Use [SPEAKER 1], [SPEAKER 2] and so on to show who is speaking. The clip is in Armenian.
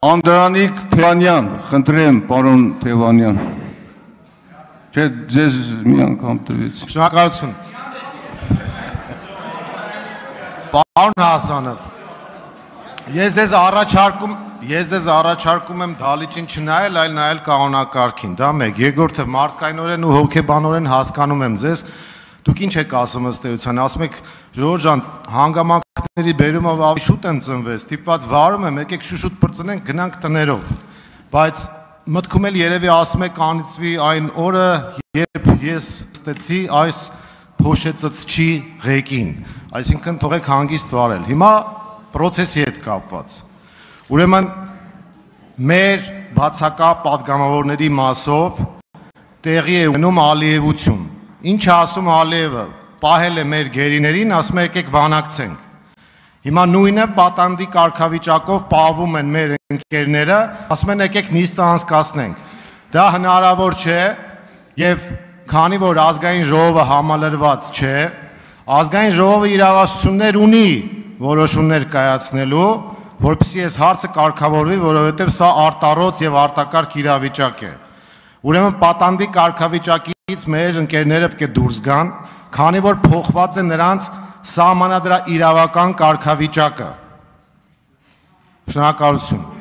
[SPEAKER 1] Անդրանիկ Թևանյան, խնդրեմ, պարոն Թևանյան։ Չէ, ձեզ մի անգամ տվեց։
[SPEAKER 2] Շնորհակալություն։ Պարոն Հասանով, ես ձեզ առաջարկում եմ դալիճին չնայել, այլ նայել կանոնակարգին, դա մեկ։ Երկրորդը մարդկայնորեն ու հոգեբանորեն հասկանում եմ ձեզ, դուք ինչ եք ասում ըստ էության, ասում եք Ժորժ ջան, հանգամանքների բերումով ավելի շուտ եմ ծնվել, ստիպված վարում եմ, եկեք շուշուտ պրծնենք, գնանք տներով, բայց մտքում էլ երևի ասում եք անիծվի այն օրը, երբ ես ստեցի այս փոշեցծչի ղեկին, այսինքն թողեք հանգիստ վարել։ Հիմա պրոցեսի հետ կապված։ Ուրեմն մեր բացակա պատգամավորների մասով տեղի է ունենում Ալիևություն։ Ինչ է ասում Ալիևը, պահել է մեր գերիներին, ասում է եկեք բանակցենք։ Հիմա նույնը պատանդի կարգավիճակով պահվում են մեր ընկերները, ասում են եկեք նիստը անցկացնենք։ Դա հնարավոր չէ եւ քանի որ ազգային ժողովը համալրված չէ, ազգային ժողովը իրավասություններ ունի որոշումներ կայացնելու, որպեսզի այս հարցը կարգավորվի, որովհետեւ սա արտառոց եւ արտակարգ իրավիճակ է։ Ուրեմն պատանդի կարգավիճակից մեր ընկերները պետք է դուրս գան, քանի որ փոխված է նրանց սահմանադրական իրավական կարգավիճակը։ Շնորհակալություն։